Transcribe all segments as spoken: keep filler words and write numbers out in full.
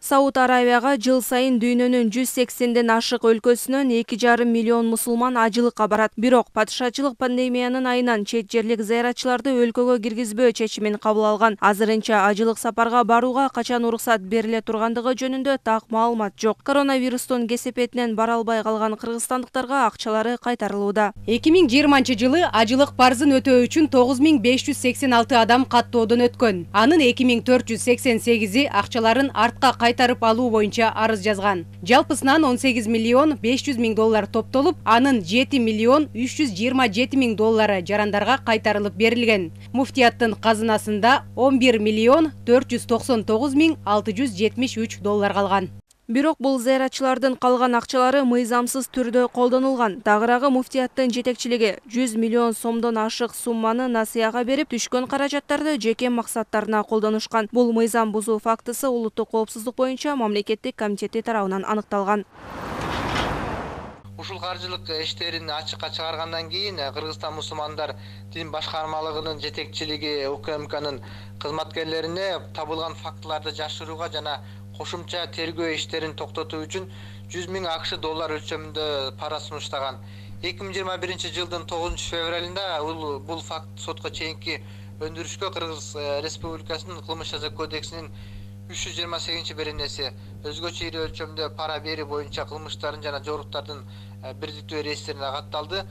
Сауд Аравияга жыл сайын дүйнөнүн жүз сексенден ашык өлкөсүнөн эки жарым миллион мусулман ажылыкка барат. Бирок падышачылык пандемиянын айынан чет жерлик зыяратчыларды өлкөгө киргизбөө чечимин кабыл алган. Азырынча ажылык сапарга барууга качан уруксат бериле тургандыгы жөнүндө так маалымат жок. Коронавирустун кесепетинен бара албай калган кыргызстандыктарга акчалары кайтарылууда. эки миң жыйырманчы жылы ажылык парзын өтөө үчүн тогуз миң беш жүз сексен алты адам каттоодон өткөн. Анын эки миң төрт жүз сексен сегизи акчаларын артка кайтарып алуу боюнча арыз жазган. Жалпысынан он сегиз миллион беш жүз миң доллар топтолуп, анын жети миллион үч жүз жыйырма жети миң доллары жарандарга кайтарылып берилген. Муфтияттын казынасында он бир миллион төрт жүз токсон тогуз миң алты жүз жетимиш үч доллар калган. Бирок бул зыяратчылардын калган акчалары мыйзамсыз түрдө колдонулган. Дагыраагы муфтияттын жетекчилиги жүз миллион сомдон ашык сумманы насыяга берип, түшкөн каражаттарды жеке максаттарына колдонушкан. Бул мыйзам бузуу фактысы улуттук коопсуздук боюнча мамлекеттик комитети тарабынан аныкталган. Ушул каржылык иштерин ачыкка чыгаргандан кийин Кыргызстан мусулмандар дин башкармалыгынын жетекчилиги УКМКнын кызматкерлерине табылган фактыларды жашырууга жана кошумча тергөө иштерин токтотуу үчүн жүз миң акш доллар өлчөмүндө пара сунуштаган. эки миң жыйырма биринчи жылдын тогузунчу февралында бул факт сотко чейинки өндүрүшкө Кыргыз Республикасынын кылмыш жаза кодексинин үч жүз жыйырма сегизинчи беренеси өзгөчө ири өлчөмдө пара берүү боюнча кылмыштардын жана жоруктардын бирдиктүү реестрине катталды.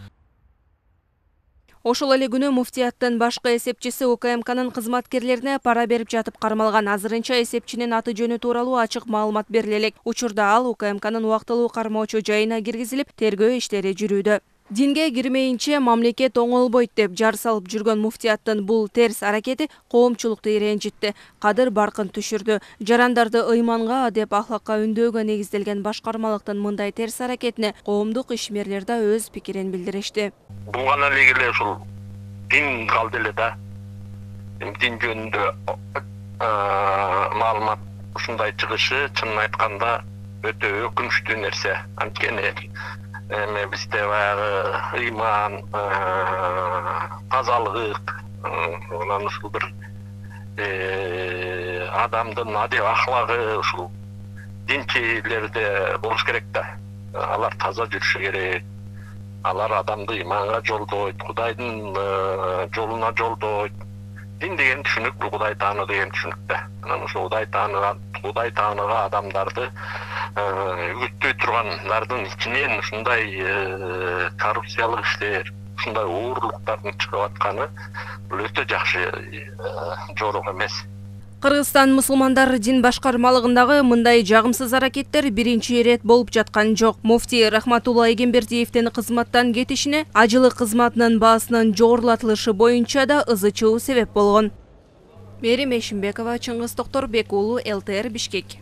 Ошол эле күнү муфтияттын башкы эсепчиси УКМКнын кызматкерлерине пара берип жатып кармалган. Азырынча эсепчинин аты жөнү тууралуу ачык маалымат бериле элек. Учурда ал УКМКнын убактылуу кармоочу жайына киргизилип, тергөө иштери жүрүүдө. Динге кирмейинче мамлекет оңолбойт деп жар салып жүргөн муфтияттын бул терс аракети коомчулукту ренжитти, кадыр баркын түшүрдү. Жарандарды ыйманга деп ахлакка үндөөгө негизделген башкармалыктын мындай терс аракетине коомдук ишмерлер да өз пикирин билдиришти. Бул гана эле ушул дин калды эле да. Дин жөнүндө маалымат ушундай чыгышы чынын айтканда өтө өкүнүчтүү нерсе. Анткени эми бизде баягы ыйман, тазалык, анан ушул бир адамдын адеп ахлагы ушул динчилерде болуш керек да. Алар таза жүрүшү керек. Алар адамды ыйманга жолдойт, Кудайдын жолуна жолдойт. Дин деген түшүнүк, бул Кудай таануу деген түшүнүк да. Анан ошо Кудай тааныган, Кудай таанууга адамдарды үгүттөй тургандардын ичинен ушундай коррупциялык иштер, ушундай уурлуктардын чыгып атканы бул өтө жакшы жорук эмес. Кыргызстан мусулмандар дин башкармалыгындагы мындай жагымсыз аракеттер биринчи ирет болуп жаткан жок. Муфти Рахматулла Эгембердиевдин кызматтан кетишине ажылык кызматынын баасынын жогорулатылышы боюнча да ызы чуу себеп болгон. Мерим Эшимбекова, Чыңгыз Токторбек уулу, эл тэ эр Бишкек.